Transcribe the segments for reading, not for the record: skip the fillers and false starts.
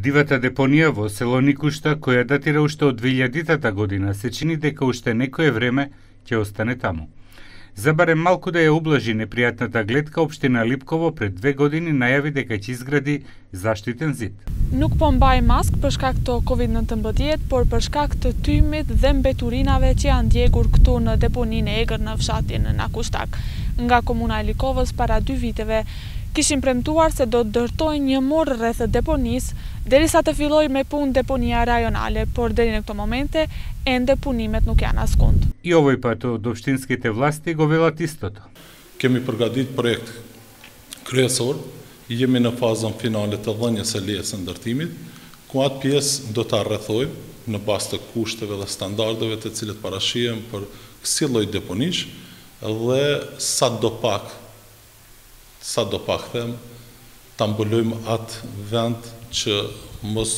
Дивата депонија во село Никушта, која датира уште од 2000-та година, се чини дека уште некое време ќе остане таму. За барем малку да ја ублажи непријатната гледка, општина Липково пред 2 години најави дека ќе изгради заштитен зид. Nuk po mbaj mask për shkak të Covid-19, por për shkak të tymit dhe mbeturinave që janë djegur këtu në deponinë e egër në fshatin Nakushtak. Nga komuna e Likovës para 2 viteve kishin premtuar se do të ndërtojnë një morr rreth deponisë derisa të fillojë me punë deponia rajonale, por deri në këto momente ende punimet nuk janë askund. И овој пат од општинските власти го велат истото. Kemi përgatit projekt kryesor, jemi në fazën finale të dhënies së lejes së ndërtimit, ku atë pjesë do ta rrethojmë në bazë të kushteve dhe standardeve të cilët parashihen për kësaj lloj deponish dhe sa do pak them ta mbulojmë atë vend që mos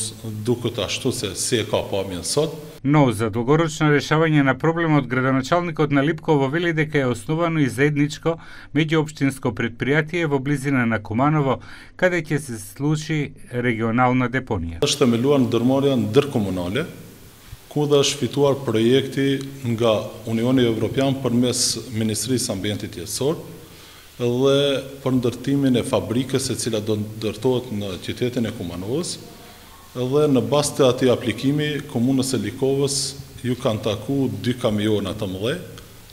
duket ashtu se si e ka pamjen sot. Но за долгорочно решавање на проблемот, градоначалникот на Липково вели дека е основано и заедничко меѓуопштинско предпријатие во близина на Куманово, каде ќе се случи регионална депонија. Është themeluar ndërmarrja ndërkomunale, ku dhe është fituar projekti nga Unioni Evropian përmes Ministrisë Ambientit Jetësor dhe për ndërtimin e fabrikës e cila do ndërtohet në qytetin e Kumanovës. Dhe në bazë të atij aplikimi, komunës e Likovës ju kanë taku 2 kamiona të mëdha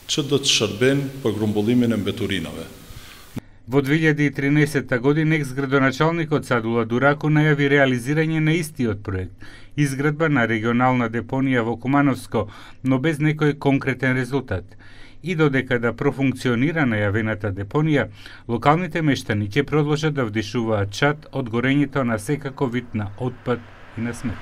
që do të shërbejnë për grumbullimin e mbeturinave. Во 2013 година екс-градоначалникот Садула Дураку најави реализирање на истиот проект, изградба на регионална депонија во Кумановско, но без некој конкретен резултат. И додека да профункционира најавената депонија, локалните мештани ќе продолжат да вдишуваат чад од горењето на секаков вид на отпад и на смет.